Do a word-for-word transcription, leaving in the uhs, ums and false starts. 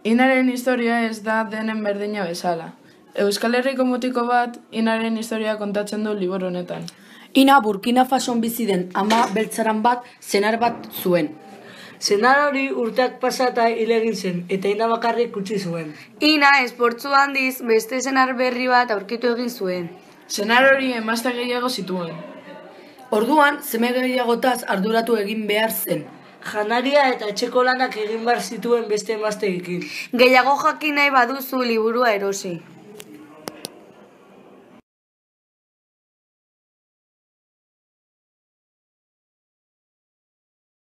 Inaren historia ez da denen berdina bezala. Euskal Herriko mutiko bat Inaren historia kontatzen du liburu honetan. Ina Burkina Fason bizi den ama beltzaran bat senar bat zuen. Senar hori urteak pasata hil egin zen, eta Ina bakarrik utzi zuen. Ina esportzu handiz beste senar berri bat aurkitu egin zuen. Senar hori emazte gehiago zituen. Orduan, seme gehiagotaz arduratu egin behar zen. Janaria eta etxeko lanak egin behar zituen beste emazteekin. Gehiago jakin nahi baduzu liburua erosi.